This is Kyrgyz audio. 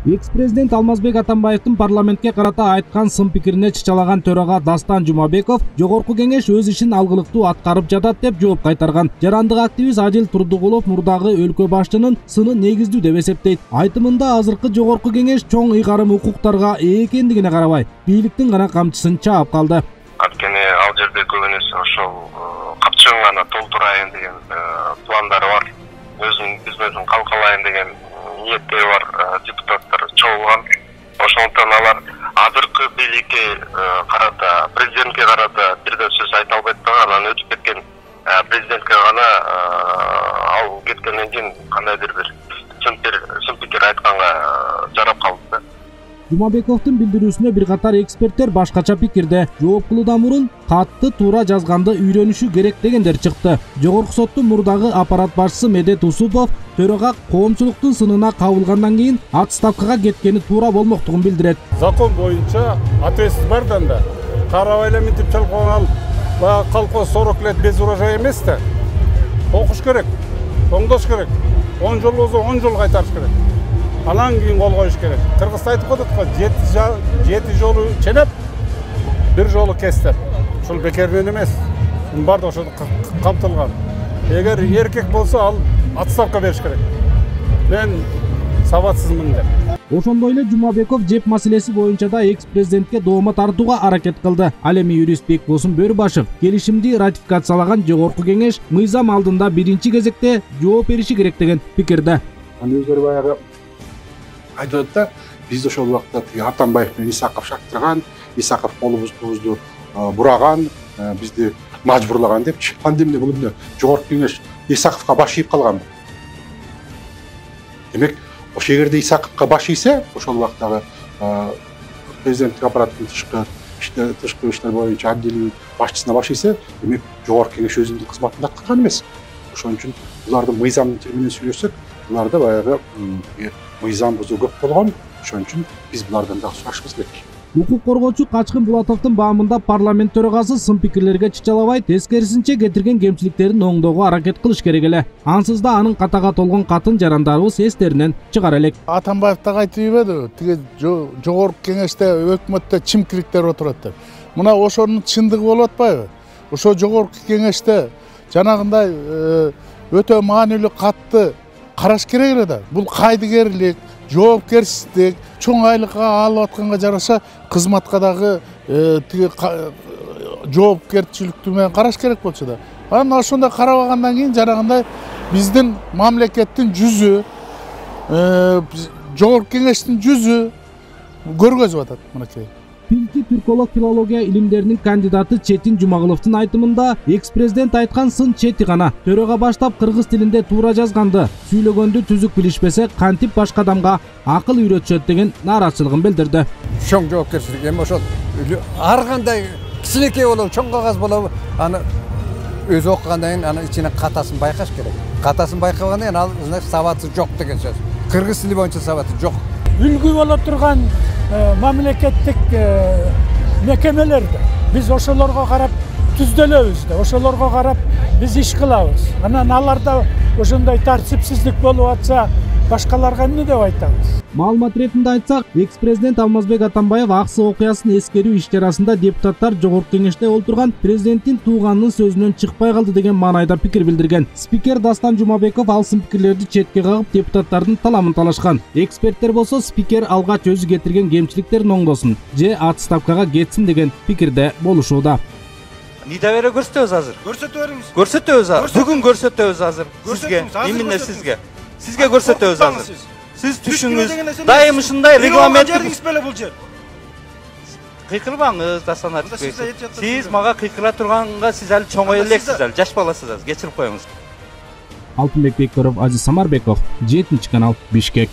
Экс-президент Алмазбек Атамбаевдин парламентке карата айткан сын пикирине чычалаган төрага Дастан Жумабеков Жогорку кеңеш өз ишин алгылыктуу аткарып жатат деп жооп кайтарган. Жарандык активист Адил Турдугулов мурдагы өлкө башчынын сыны негиздүү деп эсептейт. Айтымында азыркы Жогорку кеңеш чоң ыйгарым укуктарга ээ экендигине карабай, бийликтин гана камчысын чаап калды. Анткени ал жерде көбүнесе ошол капчыгын гана толтурайын деген пландары бар. Өзүнүн бизнесин калкалайын деген ниеттери бар депутаттар чогулган. Ошондуктан алар азыркы бийликке карата, президентке карата бир да сөз айта албайт да, анан өтүп кеткен президентке гана ал кеткенден кийин кандайдыр бир сын пикир айтканга жарап калды. Жумабековдун билдирүүсүнө бир катар эксперттер башкача пикирде. Жооп кылуудан мурун катты туура жазганды үйрөнүшү керек дегендер чыкты. Жогорку соттун мурдагы аппарат башчысы Медет Усупов төрага коомчулуктун сынына кабылгандан кийин отставкага кеткени туура болмоктугун билдирет. Закон боюнча ответственность бар да, карабай эле мынтип чалкаган баягы колхоз 40 лет без урожая эмес да. Окуш керек, оңдош керек. 10 жол болсо 10 жол кайтарыш керек. Анан кийин кол коюш керек. Кыргызда айтып коет го, 7 жолу ченеп, 1 жолу кес деп. Ушул бекерден эмес. Бардыгы ошол камтылган. Эгер эркек болсо ал отставка бериш керек. Мен сабатсызмын деп. Ошондой эле Жумабеков жеп маселеси боюнча да экс-президентке доoma тартууга аракет кылды. Ал эми юрист Бекбосун Бөрүбашев келишимди ратификациялаган Жогорку кеңеш мыйзам алдында биринчи кезекте жооп бериши керек деген пикирде. Өздөрү баягы айтып да, биз ошол убакта Атамбаев менен Исаков шактырган, Исаков колубузду бураган, бизди мажбурлаган депчи. Анда эмне бул эмне Жогорку кеңеш Исаковго баш ийип калганбы? Демек, ошол жерде Исаковго баш ийсе, ошол убактагы президенттик аппараттын тышкы иштер боюнча отделинин башчысына баш ийсе, демек Жогорку кеңеш өзүнүн кызматын аткарган эмес. Ошон үчүн булардын мыйзамдын тилинен сүйлөшсөк, буларда баягы мыйзам бузуу көп болгон. Ошон үчүн биз булардан да сурашыбыз керек. Укук коргоочу Качкын Булатовдун баамында парламент төрагасы сын пикирлерге чычалабай, тескерисинче кетирген кемчиликтерин оңдоого аракет кылыш керек эле. Ансыз да анын катага толгон катын жарандарыбыз эстеринен чыгар элек. Атамбаев так айтып ийбеди, тиги жогорку кеңеште өкмөттө чимкириктер отурат деп. Мына ошонун чындыгы болуп атпайбы? Ошо жогорку кеңеште жанагындай өтө маанилүү катты караш керек эле да. Бул кайдыгерлик, жоопкерчилик, чоң айлыкка алып атканга жараша кызматка дагы тиги жоопкерчиликтүү менен караш керек болчу да. Анан ошондой карабагандан кийин жанагындай биздин мамлекеттин жүзү, жогорку кеңештин жүзү көргөзүп атат мынакей. Пилти түрколог филология илимдеринин кандидаты Четин Жумагуловдун айтымында экс-президент айткан сын чети гана. Төрөгө баштап кыргыз тилинде туура жазганды, сүйлөгөндү түзүк билишпесе, кантип башка адамга акыл үйрөтүшөт деген нааразычылыгын билдирди. Чоң жоопкерчилик эми ошол ар кандай кичинекей болобу, чоң кагаз болобу, аны өзү окугандан кийин анын ичинен катасын байкаш керек. Катасын байкагандан кийин ал значит сабаты жок деген сөз. Кыргыз тили боюнча сабаты жок. Үлгү боло турган мамлекеттик мекемелерде биз ошолорго карап түздөлөбүз да, ошолорго карап биз иш кылабыз. Анан аларда ошондой тартипсиздик болуп атса, башкаларга эмне деп айтабыз? Маалымат ретинде айтсак, экс-президент Алмазбек Атамбаев аксы окуясын эскерүү иш чарасында депутаттар жогорку кеңеште олтурган президенттин тууганынын сөзүнөн чыкпай калды деген маанайда пикир билдирген. Спикер Дастан Жумабеков ал сын пикирлерди четке кагып, депутаттардын таламын талашкан. Эксперттер болсо спикер алгач өзү кетирген кемчиликтерин оңдосун же отставкага кетсин деген пикирде болушууда. Недоверие көрсөтөбүз азыр. Көрсөтө бериңиз. Көрсөтөбүз азыр. Бүгүн көрсөтөбүз азыр. Именно сизге. Сизге көрсөтөбүз азыр. Сиз түшүңүз дайым ушундай регламент. Кыйкырбаңыз, Дастан Арыспек. Сиз мага кыйкыра турганга сиз али чоңой элексиз, али жаш баласыз азыр. Кечирип коюңуз. Алтынбек Бекторов, Азиз Самарбеков, 7 канал, Бишкек.